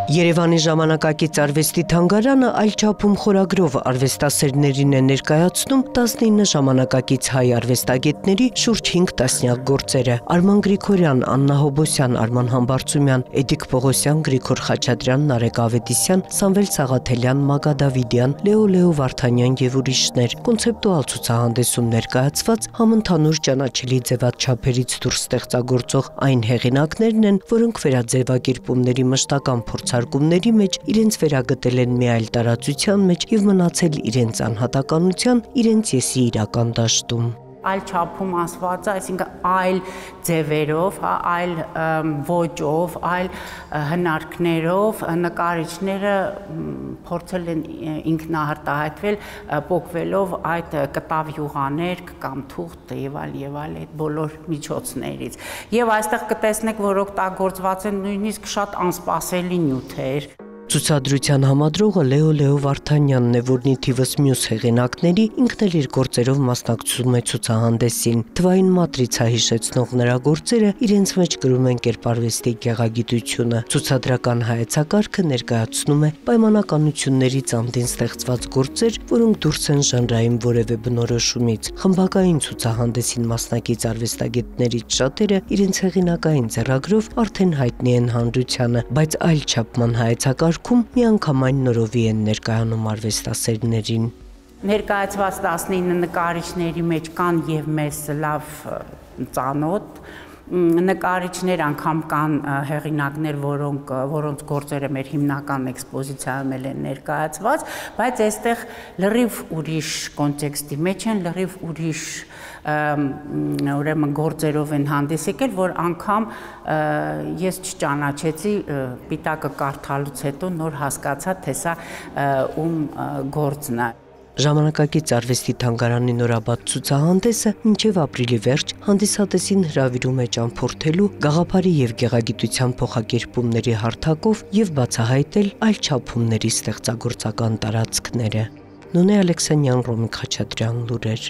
Երևանի ժամանակակից արվեստի թանգարանը այլ չափում խորագրով արվեստասերներին է ներկայացնում 19 ժամանակակից հայ արվեստագետների շուրջ 5 տասնյակ գործերը։ Արման Գրիգորյան, Աննա Հոբոսյան, Արման Համբարձումյան, Էդիկ Պողոսյան, Գրիգոր Խաչատրյան, Նարեկ Ավետիսյան, Սամվել Սաղաթելյան, Մագա Դավիդյան, Լեո Վարդանյան եւ ուրիշներ։ Կոնցեպտուալ ցուցահանդեսում ներկայացված համընդհանուր ճանաչելի ձևաչափերից դուրս ստեղծագործող այն հեղինակներն են, որոնք վերաձևակերպումների մշտական փորձարկումների մեջ իրենց վերագտել են մի այլ տարածության մեջ եւ մնացել իրենց անհատականության, իրենց եսի իրական դաշտում։ Այլ չափում ասված, այսինքն այլ ձևերով, այլ ոճով, այլ հնարքներով նկարիչները փորձել են ինքնահարտահայտվել, պոկվելով այդ կտավ յուղաներ կամ թուղթ եւ այլ այդ բոլոր միջոցներից։ Եվ այստեղ կտեսնեք, որ օգտագործված են նույնիսկ շատ անսպասելի նյութեր։ Ցուցադրության համադրողը Լեո Վարդանյանն է, որն ի թիվս մյուս հեղինակների ինքն էլ իր գործերով մասնակցում է ցուցահանդեսին։ Թվային մատրիցա հիշեցնող նրա գործերը իրենց մեջ կրում են կերպարվեստի գեղագիտությունը։ Ցուցադրական հայեցակարգը ներկայացնում է պայմանականություններից անդին ստեղծված գործեր, որոնք դուրս են ժանրային որևէ բնորոշումից։ Խմբակային ցուցահանդեսին մասնակից արվեստագետներից շատերը իրենց հեղինակային ձեռագրով արդեն հայտնի են հանրությանը, բայց այլ չափման հայեցակարգ միանգամայն նորովի են ներկայանում արվեստասերներին։ Ներկայացված 19 նկարիչների մեջ կան եւ մեզ լավ ծանոթ նկարիչներ, անգամ կան հեղինակներ, որոնց գործերը մեր հիմնական էքսպոզիցիայում են ներկայացված, բայց այստեղ լրիվ ուրիշ կոնտեքստի մեջ են, լրիվ ուրիշ ուրեմն գործերով են հանդես եկել, որ անգամ ես չճանաչեցի պիտակը կարդալուց հետո նոր հասկացա, թե սա ում գործն է։ Ժամանակակից արվեստի թանգարանի նորաբաց ցուցահանդեսը մինչև ապրիլի վերջ հանդիսատեսին հրավիրում է ճամփորդելու գաղափարի եւ գեղագիտության փոխակերպումների հարթակով եւ բացահայտել այլ չափումների ստեղծագործական տարածքները։ Նոնե Ալեքսանյան, Ռոմիկ Խաչատրյան, լուրեր։